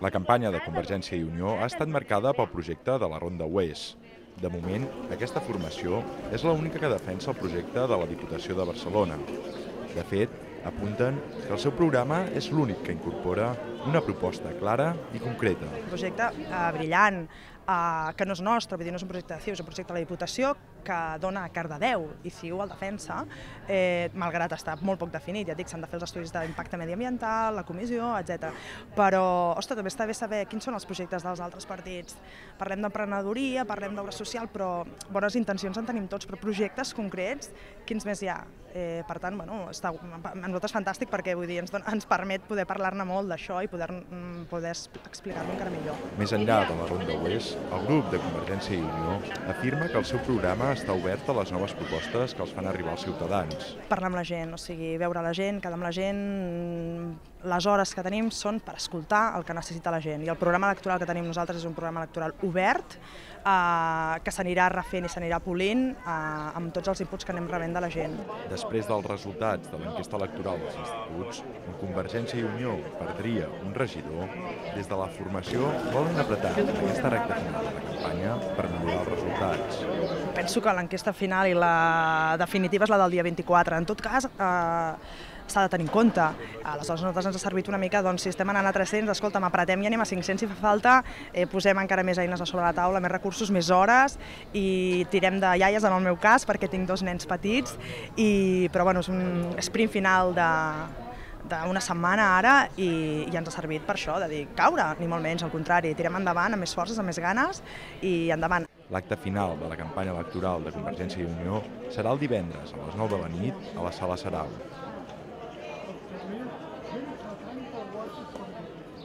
La campanya de Convergència i Unió ha estat marcada pel projecte de la Ronda Oest. De moment, aquesta formació és l'única que defensa el projecte de la Diputació de Barcelona. De fet, apunten que el seu programa és l'únic que incorpora una proposta clara i concreta. Un projecte brillant, que no és nostre, vull dir, no és un projecte de CiU, és un projecte de la Diputació que dona a Cardedeu i CiU el defensa, malgrat estar molt poc definit. Ja et dic, s'han de fer els estudis d'impacte mediambiental, la comissió, etc. Però, ostres, també està bé saber quins són els projectes dels altres partits. Parlem d'emprenedoria, parlem d'obra social, però bones intencions en tenim tots, però projectes concrets, quins més hi ha? Per tant, bueno, a nosaltres fantàstic perquè vull dir, ens permet poder parlar-ne molt d'això i poder explicar-lo encara millor. Més enllà de la Ronda Oest, el grup de Convergència i Unió afirma que el seu programa està obert a les noves propostes que els fan arribar als ciutadans. Parlar amb la gent, o sigui, veure la gent, quedar amb la gent, les hores que tenim són per escoltar el que necessita la gent. I el programa electoral que tenim nosaltres és un programa electoral obert, que s'anirà refent i s'anirà polint amb tots els inputs que anem rebent de la gent. Després dels resultats de l'enquesta electoral dels instituts, on Convergència i Unió perdria un regidor, des de la formació volen apretar en aquesta recta final de la campanya per millorar els resultats. Penso que l'enquesta final i la definitiva és la del dia 24. En tot cas, s'ha de tenir en compte. Aleshores, a nosaltres ens ha servit una mica, doncs, si estem anant a 300, escolta'm, apretem i anem a 500 si fa falta, posem encara més eines a sobre la taula, més recursos, més hores, i tirem de iaies, en el meu cas, perquè tinc 2 nens petits, però bueno, és un sprint final d'una setmana ara i ens ha servit per això, de dir caure, ni molt menys, al contrari, tirem endavant amb més forces, amb més ganes i endavant. L'acte final de la campanya electoral de Convergència i Unió serà el divendres a les 9 de la nit a la Sala Sarau.